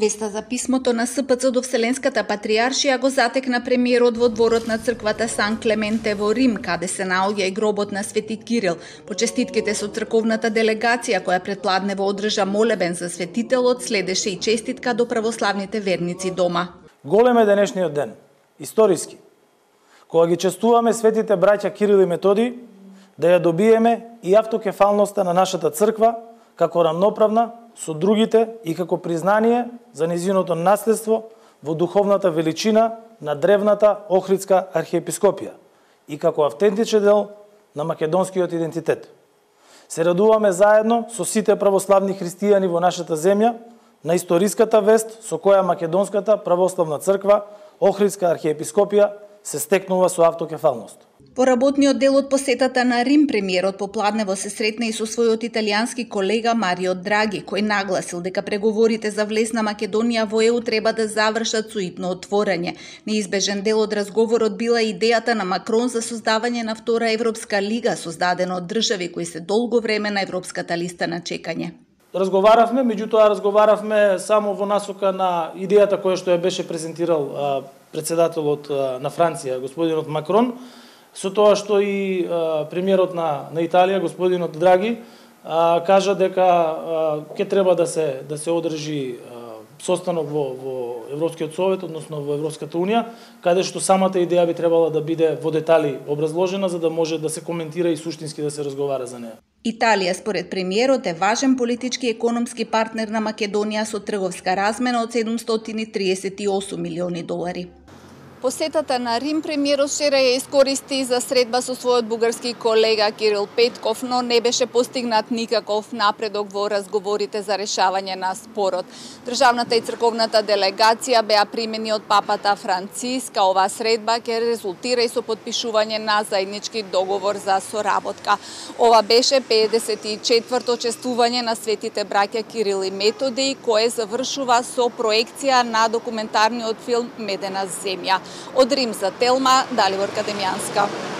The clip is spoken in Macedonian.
Веста за писмото на СПЦ до Вселенската патриаршија го затекна премиерот во дворот на црквата Сан Клементе во Рим, каде се наоѓа и гробот на Свети Кирил. По честитките со црковната делегација која предпладнево одржа молебен за светителот, следеше и честитка до православните верници дома. Голем е денешниот ден, историски, кога ги честуваме светите браќа Кирил и Методи, да ја добиеме и автокефалноста на нашата црква како рамноправна со другите и како признание за незиното наследство во духовната величина на древната Охридска архиепископија и како автентичен дел на македонскиот идентитет. Се радуваме заедно со сите православни христијани во нашата земја на историската вест со која Македонската православна црква Охридска архиепископија се стекнува со автокефалност. По работниот дел од посетата на Рим, премиерот попладнево се сретна и со својот италијански колега Марио Драги, кој нагласил дека преговорите за влез на Македонија во ЕУ треба да завршат со итно отворање. Неизбежен дел од разговорот била идејата на Макрон за создавање на втора Европска лига, создадена од држави кои се долго време на европската листа на чекање. Разговаравме, меѓутоа разговаравме само во насока на идејата која што ја беше презентирал председателот на Франција, господинот Макрон, со тоа што и премиерот на Италија, господинот Драги, кажа дека ќе треба да се одржи состанок во Европскиот совет, односно во Европската унија, каде што самата идеја би требала да биде во детали образложена за да може да се коментира и суштински да се разговара за неа. Италија, според премиерот, е важен политички и економски партнер на Македонија со трговска размена од 738 милиони долари. Посетата на Рим премиерот вчера ја искористи за средба со својот бугарски колега Кирил Петков, но не беше постигнат никаков напредок во разговорите за решавање на спорот. Државната и црковната делегација беа примени од папата Франциска. Оваа средба ќе резултира и со подпишување на заеднички договор за соработка. Ова беше 54-то чествување на светите браќа Кирил и Методи, кое завршува со проекција на документарниот филм Медена земја. Од Рим за Телма, Далибор Кадемјанска.